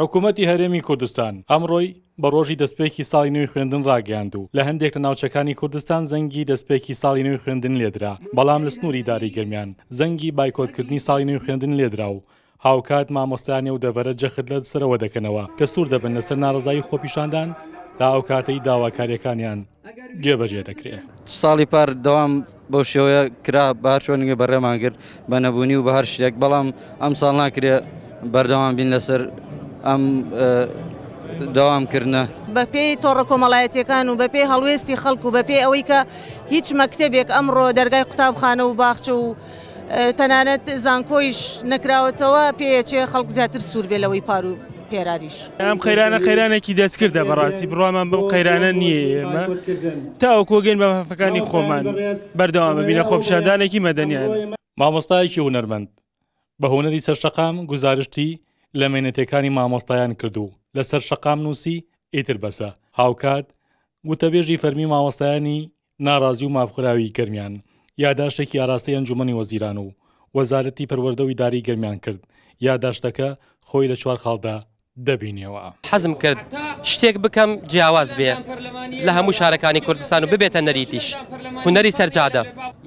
حکومەتی هەرێمی کوردستان ئەمڕۆی بە ڕۆژی دەستپێکی ساڵی نوێی خوێندن ڕاگەیاند و لە هەندێک لە ناوچەکانی کوردستان زەنگی دەستپێکی ساڵی نوێی خوێندن لێدرا، بەڵام لە سنووری ئیدارەی گەرمیان زەنگی بایکۆتکردنی ساڵی نوێی خوێندن لێدرا و هاوکات مامۆستایانی ئەو دەڤەرە جەخت لە سەرەوە دەکەنەوە کە سوور دەبن لەسەر ناڕەزایی خۆپیشاندان تا ئەو کاتەی داواکارییەکانیان جێبەجێ دەکرێ. ساڵی پار دەوام بەو شێوەیە کرا بە هەر چۆنێک بەڕێمان کرد بە نەبوونی و بە هەر شتێک بەڵام ئەم ساڵ ناکرێ بەردەوام بین لەسەر ئەم دەوام کردنە. بەپێی تۆڕە کۆمەڵایەتیەکان و بەپێی هەڵوێستی خەڵک و بەپێی ئەوەی کە هیچ مەکتەبێک ئەمڕۆ دەرگای قوتابخانە و باخچە و تەنانەت زانکۆیش نەکراوەتەوە پێیەچێ خەڵک زیاتر سوور بێ لەوەی پار و پێراریش. ئەم قەیرانە قەیرانێکی دەستکردە بەڕاستی بڕوامان بەم قەیرانە نییە ئێمە تاوەکو گەین بە مافەکانی خۆمان بەردەوام ببین لە خۆپیشاندانێکی مەدەنیانە. مامۆستایەکی هونەرمەند بە هونەری سەر شەقام گوزارشتی لە مەینەتیەکانی مامۆستایان کرد و لەسەر شەقام نووسی ئیتر بەسە، هاوکات وتەبێژی فەرمی مامۆستایانی ناڕازی و مافخوراوی گەرمیان یاداشتێکی ئاراستەی ئەنجومەنی وەزیران و وەزارەتی پەروەردە و ئیدارەی گەرمیان کرد، یاداشتەکە خۆی لە چوار خاڵدا دەبینیەوە. حەزم کرد شتێک بکەم جیاواز بێ لە هەموو شارەکانی کوردستان و ببێتە نەریتیش، هونەری سەر جادە.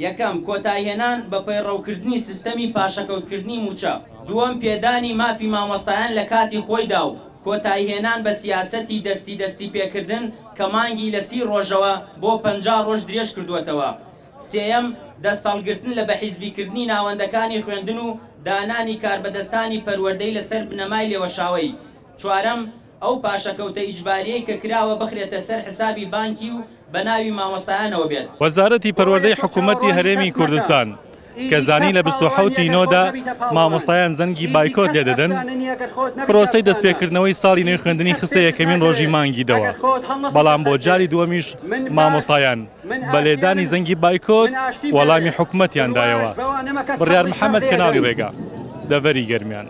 یەکەم، کۆتایهێنان بە پەیڕەوکردنی سیستەمی پاشەکەوتکردنی مووچە. دووەم، پێدانی مافی مامۆستایان لە کاتی خۆیدا و کۆتایهێنان بە سیاسەتی دەستی دەستی پێکردن کە مانگی لە سی ڕۆژەوە بۆ 50 ڕۆژ درێژکردووەتەوە. سێیەم، دەستهەڵگرتن لە بەحیزبیکردنی ناوەندەکانی خوێندن و دانانی کاربەدەستانی پەروەردەی لەسەر بنەمای لێوەشاوەی. چوارەم، ئەو پاشەکەوتە ئیجباریەی کە کراوە بخرێتە سەر حسابی بانکی و بە ناوی مامۆستایانەوە بێت. وەزارەتی پەروەردەی حکوومەتی هەرێمی کوردستان کە زانی لە 27 ی نۆدا مامۆستایان زەنگی بایکۆت لێدەدەن، پرۆسەی دەستپێکردنەوەی ساڵی نوێی خوێندنی خستە یەکەمین ڕۆژی مانگی دەوە، بەڵام بۆ جاری دووەمیش مامۆستایان بە لێدانی زەنگی بایکۆت وەڵامی حکومەتیان دایەوە. بڕیار محەمەد کەناڵی ڕێگا، دەڤەری گەرمیان.